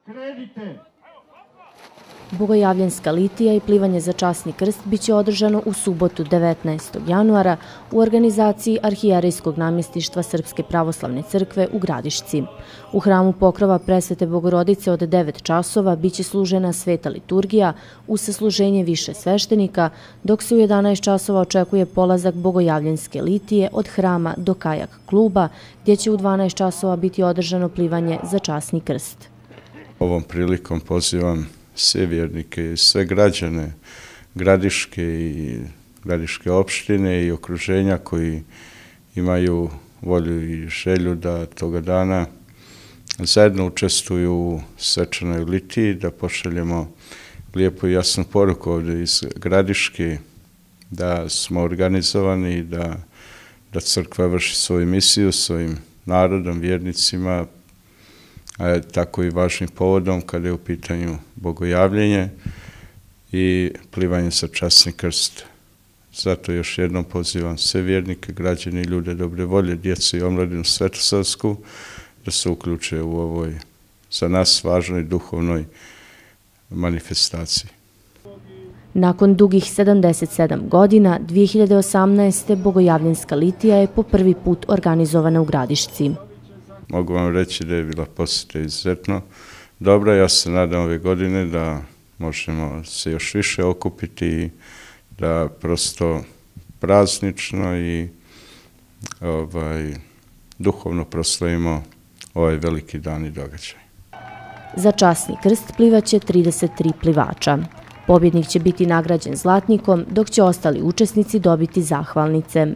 Krenite! Bogojavljanska litija i plivanje za časni krst biće održano u subotu 19. januara u organizaciji Arhijerejskog namjestištva Srpske pravoslavne crkve u Gradišci. U hramu Pokrova Presvete Bogorodice od 9 časova biće služena sveta liturgija uz sasluženje više sveštenika, dok se u 11 časova očekuje polazak Bogojavljanske litije od hrama do kajak kluba, gdje će u 12 časova biti održano plivanje za časni krst. Ovom prilikom pozivam sve vjernike i sve građane Gradiške i Gradiške opštine i okruženja koji imaju volju i želju da toga dana zajedno učestvuju u svečanoj litiji, da pošaljemo lijepu i jasnu poruku ovdje iz Gradiške, da smo organizovani i da crkva vrši svoju misiju svojim narodom, vjernicima, a tako i važnim povodom kada je u pitanju bogojavljenje i plivanje za časni krst. Zato još jednom pozivam sve vjernike, građane i ljude dobre volje, djecu i omladinu svetosavsku da se uključe u ovoj za nas važnoj duhovnoj manifestaciji. Nakon dugih 77 godina, 2018. Bogojavljanska litija je po prvi put organizovana u Gradišci. Mogu vam reći da je bila posjeta izuzetno dobra. Ja se nadam ove godine da možemo se još više okupiti i da prosto praznično i duhovno proslavimo ovaj veliki dan i događaj. Za časni krst plivaće 33 plivača. Pobjednik će biti nagrađen zlatnikom, dok će ostali učesnici dobiti zahvalnice.